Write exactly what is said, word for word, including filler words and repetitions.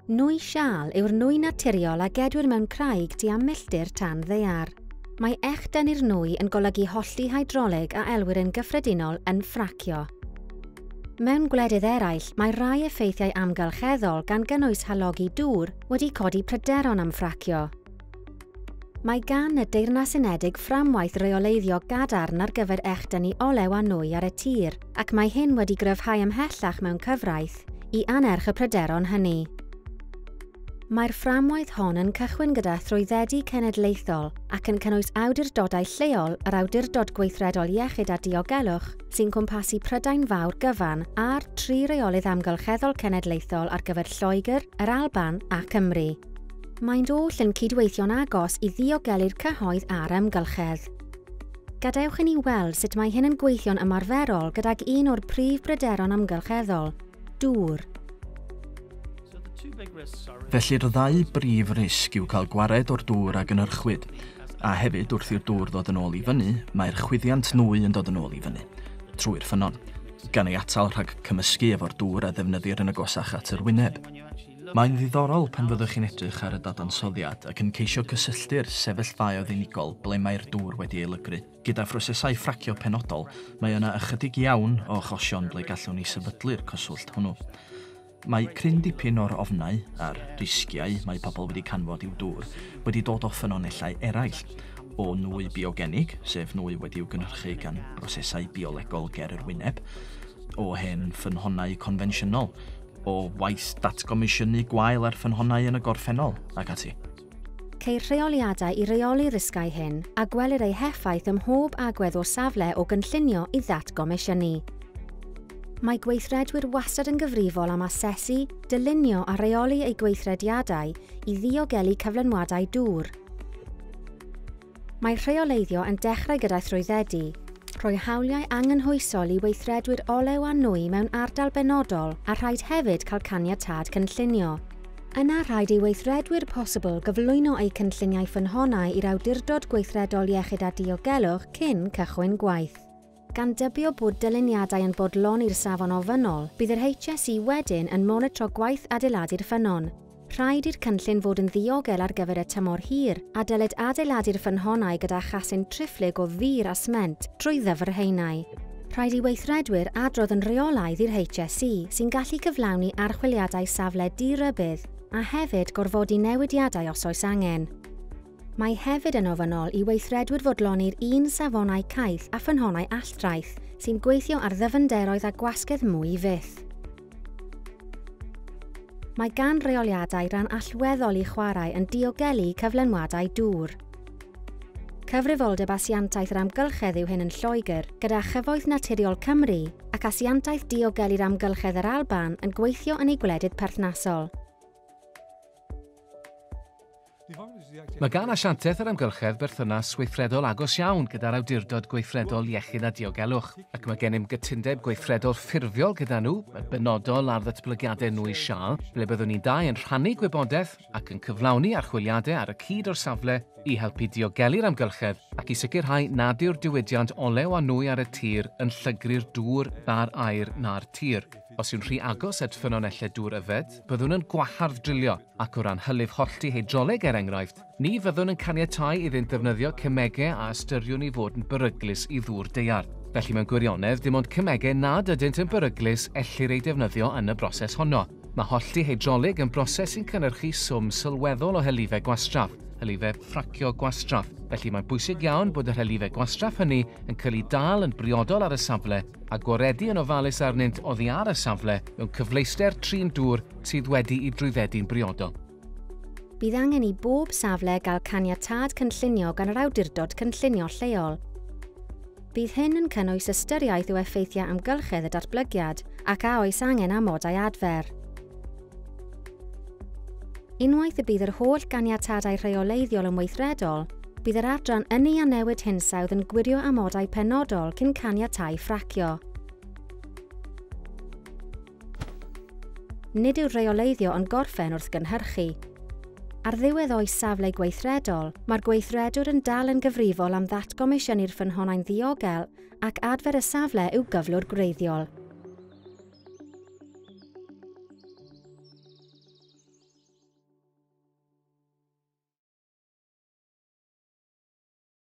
Nwy siâl yw'r nwy naturiol a gedwir mewn craig tua milltir tan ddaear. Mae echdynnu'r nwy yn golygu hollti hydrolig a elwir yn gyffredinol yn ffracio. Mewn gwledydd eraill, mae rai effeithiau amgylcheddol gan gynnwys halogi dŵr wedi codi pryderon am ffracio. Mae gan y Deyrnas Unedig fframwaith reoleiddio gadarn ar gyfer echdynnu olew a nwy ar y tir, ac mae hyn wedi gryfhau ymhellach mewn cyfraith i anerch y pryderon hynny. Mae'r fframwaith hon yn cychwyn gyda thrwyddedu cenedlaethol ac yn cynnwys awdurdodau lleol, yr Awdurdod Gweithredol Iechyd a Diogelwch sy'n cwmpasu Prydain Fawr gyfan a'r tri reolydd amgylcheddol cenedlaethol ar gyfer Lloegr, yr Alban a Cymru. Maent oll yn cydweithio'n agos i ddiogelu'r cyhoedd a'r amgylchedd. Gadewch i ni weld sut mae hyn yn gweithio'n ymarferol gydag un o'r prif bryderon amgylcheddol, dŵr. Felly'r ddau brif risg yw cael gwared o'r dŵr a gynhyrchwyd, a hefyd wrth i'r dŵr ddod yn ôl i fyny, mae'r chwyddiant nwy yn dod yn ôl i fyny, trwy'r ffynnon, gan ei atal rhag cymysgu efo'r dŵr a ddefnyddir yn agosach at yr wyneb. Mae'n ddiddorol pan fyddwch chi'n edrych ar y dadansoddiad ac yn ceisio cysylltu'r sefyllfaoedd unigol ble mae'r dŵr wedi ei lygru. Gyda phrosesau ffracio penodol, mae yna ychydig iawn o achosion ble gallwn ni sefydlu'r cyswllt hwnnw. Mae cryn dipyn o'r ofnau a'r risgiau mae pobl wedi canfod i'w dŵr wedi dod o ffynonellau eraill, o nwy biogenig, sef nwy wedi'w gynhyrchu gan brosesau biolegol ger yr wyneb, o hen ffynhonnau confensiynol, o waith datgomisiynu gwael ar ffynhonnau yn y gorffennol, ac ati. Ceir rheoliadau i reoli'r risgau hyn a gwelir eu heffaith ym mhob agwedd o'r safle o gynllunio i ddatgomisiynu. Mae gweithredwyr wastad yn gyfrifol am asesu, dylunio a rheoli eu gweithrediadau i ddiogelu cyflenwadau dŵr. Mae rheoleiddio yn dechrau gyda thrwyddedu, rhoi hawliau anghynhwysol i weithredwyr olew a nwy mewn ardal benodol a rhaid hefyd cael caniatâd cynllunio. Yna rhaid i weithredwyr posibl gyflwyno eu cynlluniau ffynhonnau i'r Awdurdod Gweithredol Iechyd a Diogelwch cyn cychwyn gwaith. Gan dybio bod dyluniadau yn bodloni'r safon ofynnol, bydd yr H S E wedyn yn monitro gwaith adeiladu'r ffynnon. Rhaid i'r cynllun fod yn ddiogel ar gyfer y tymor hir a dylid adeiladu'r ffynhonnau gyda chasyn triphlyg o ddur a sment trwy ddyfrhaenau. Rhaid i weithredwyr adrodd yn rheolaidd i'r H S E sy'n gallu cyflawni archwiliadau safle di-rybudd a hefyd gorfodi newidiadau os oes angen. Mae hefyd yn ofynnol i weithredwyr fodloni'r un safonau caeth a ffynhonnau alltraeth sy'n gweithio ar ddyfnderoedd a gwasgedd mwy fyth. Mae gan reoliadau ran allweddol i chwarae yn diogelu cyflenwadau dŵr. Cyfrifoldeb Asiantaeth yr Amgylchedd yw hyn yn Lloegr, gyda Chyfoeth Naturiol Cymru ac Asiantaeth Diogelu'r Amgylchedd yr Alban yn gweithio yn ei gwledydd perthnasol. Mae gan Asiantaeth yr Amgylchedd berthynas weithredol agos iawn gyda'r Awdurdod Gweithredol Iechyd a Diogelwch, ac mae gennym gytundeb gweithredol ffurfiol gyda nhw, yn benodol ar ddatblygiadau nwy siâl, ble byddwn ni'n dau yn rhannu gwybodaeth ac yn cyflawni archwiliadau ar y cyd o'r safle i helpu diogelu'r amgylchedd ac i sicrhau nad yw'r diwydiant olew a nwy ar y tir yn llygru'r dŵr na'r aer na'r tir. Os yw'n rhy agos at ffynonellau dŵr yfed, byddwn yn gwahardd drilio, ac o ran hylif hollti hydroleg er enghraifft, ni fyddwn yn caniatáu iddynt ddefnyddio cemegau a ystyriwn i fod yn beryglus i ddŵr daear. Felly mewn gwirionedd, dim ond cemegau nad ydynt yn beryglus ellir eu defnyddio yn y broses honno. Mae hollti hydrolig yn broses sy'n cynhyrchu swm sylweddol o hylifau gwastraff, hylifau ffracio gwastraff. Felly mae'n bwysig iawn bod yr hylifau gwastraff hynny yn cael eu dal yn briodol ar y safle a gwaredu yn ofalus arnynt oddi ar y safle mewn cyfleuster trin dŵr sydd wedi'i drwyddedu'n briodol. Bydd angen i bob safle gael caniatâd cynllunio gan yr awdurdod cynllunio lleol. Bydd hyn yn cynnwys ystyriaeth o effeithiau amgylchedd y datblygiad ac a oes angen amodau adfer. Unwaith y bydd yr holl ganiatadau rheoleiddiol yn weithredol, bydd yr adran Ynni a Newid Hinsawdd yn gwirio amodau penodol cyn caniatáu ffracio. Nid yw'r rheoleiddio yn gorffen wrth gynhyrchu. Ar ddiwedd oes safle gweithredol, mae'r gweithredwr yn dal yn gyfrifol am ddatgomisiynu'r ffynhonnau'n ddiogel ac adfer y safle i'w gyflwr gwreiddiol.